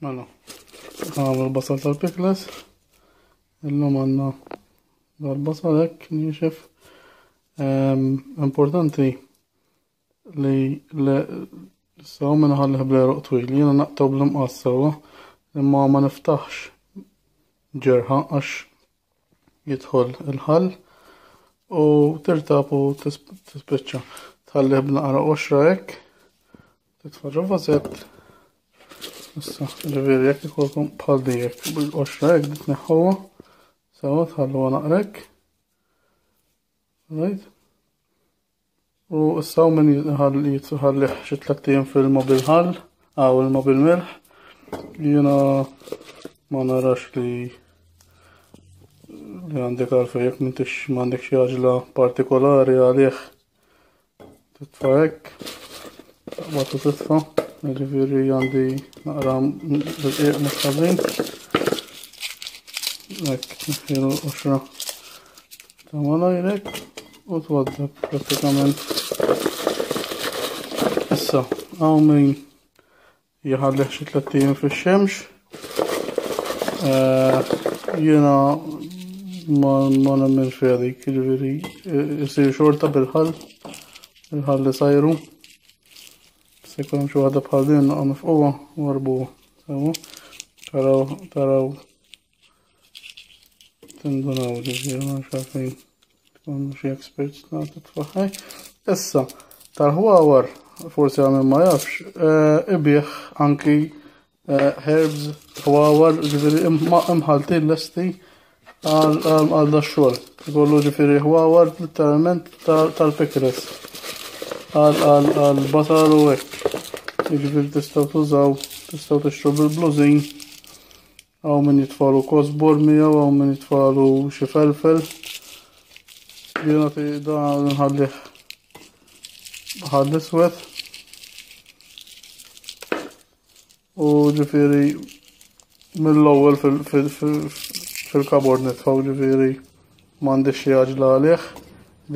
Mela, nagħmlu l-basal tal-pickles. Illum għandna dal-basal hekk niexef. Importanti li sew minn ħallih bl-għeruq twil, jiena naqtaw bl-imqass sewwa, imma ma niftaħx ġerħa għax jidħol il-ħall u tirtab u tispiċċa. Tħallih b'naqra qoxra hekk, titfa' ġo vażett. Issa, ġifieri jekk ikolkom bħal dijek bil-qoxra hekk tneħħuha, sewwa tħalluha naqra hekk. Right? U issa hawn min jitħallih xi tlett ijiem fil-ilma bil-ħall, aw ilma bil-milħ. Jiena ma narax li li għandek għalfejn jekk m'intix m'għandek xi għaġla partikolari għalih titfa' hekk, taqbad u titfa', jiġifieri għandi naqra bil-qiegħ mhux ħażin. Hekk, tneħħilu l-qoxra. Ta' malajrek u twaddab pratikament. Issa, hawn min jħallih xi tlett ijiem fix-xemx. Eh, jiena ma ma nemmenx fiha dik, jiġifieri isir xorta bil-ħall, il-ħall li sajru. Se jkun hemm xi waħda bħal din naqa' mifquha u warbuha. Sewa. Taraw, taraw Tindunaw ġifieri ma nafx għalfejn tkunu xi experts nagħtu tfaħħaj. Issa, tal-ħwawar, forsi għamil ma jafx, eh, ibih anki eh, herbs, ħwawar, ġifieri imħaltin lesti għal da xogħol. Ikollu ġifieri ħwawar letteralment tal-pickles. Għal basal u hekk. Ġifieri tistgħu tużaw, tistgħu tixtru bil-blużin Hawn min jitfalu kosbor miegħu, hawn min jitfalu xi felfel. Jiena da nħallih ħall iswed. U ġifieri mill-ewwel fil-kabord nitfgħu ġifieri m'għandix xi għaġla għalih.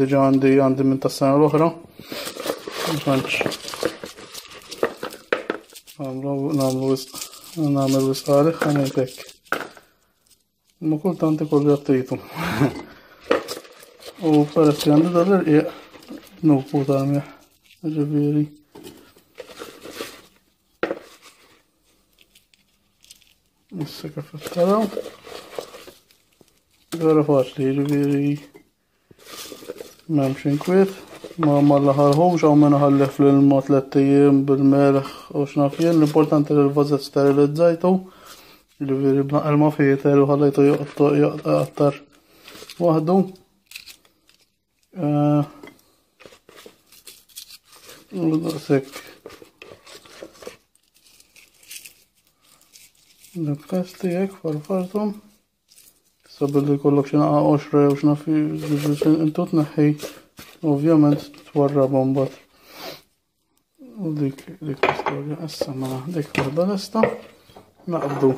Diġà għandi għandi minn tas-sena l-oħra. Ma tantx. Nagħmlu nagħmlu wisq nagħmel wisq għalih ħa ngħid hekk. Imma kultant ikollu jattitu. U peress li għandi dal-irqiq nufu tal-miħ. Ġifieri. Issa kif taraw. Vera faċli, ġifieri m'hemmx inkwiet. Ma ma laħarħux hawn min ħallih fl-ilma tlett ijiem bil-melħ u x'naf jien, l-importanti li l-vażett sterilizzajtu. Ġifieri b'naqra ilma fieter u ħallejtu joqgħod waħdu. Eh, u daqshekk. Dak tiegħek farfartom. Issa billi jkollok xi naqa' qoxra jew x'naf intu tneħħi ovvjament twarrabha mbagħad. U dik dik l-istorja issa mela dik waħda lesta naqbdu.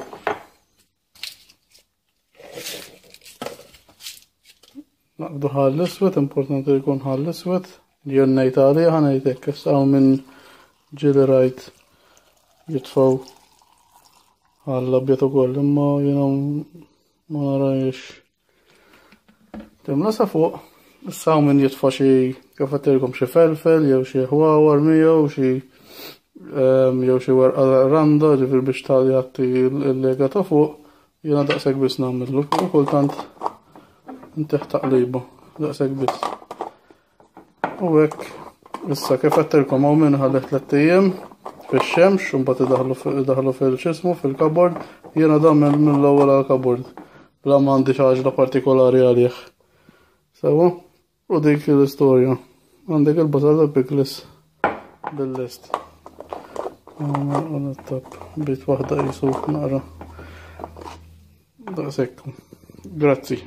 Naqbdu ħall iswed, importanti li jkun ħall iswed, jien ngħid għalih ħa ngħid hekk, issa hawn minn ġieli rajt jitfgħu Għall-abjad ukoll, imma jiena ma narajx. Timla sa fuq, issa hawn min jitfa' xi kif għedtilkom xi felfel jew xi ħwawar miegħu xi ehm, jew xi werqa randa ġifier biex tali jagħti l-lega ta' fuq, jiena daqshekk biss nagħmillu u kultant intih taqliba, daqshekk biss. U hekk, issa kif għedtilkom hawn min ħallih tlett ijiem fix-xemx u mbagħad idaħħlu fil-xismu fil-kabord, jiena dan mill-ewwel għall-kabord. Bla ma għandi xi għaġla partikolari għalih. Sewa, u dik l-istorja. Għandek il-basal tal-piklis bil-lest. Għana bit waħda jisu naqra. Daqshekk. Grazzi.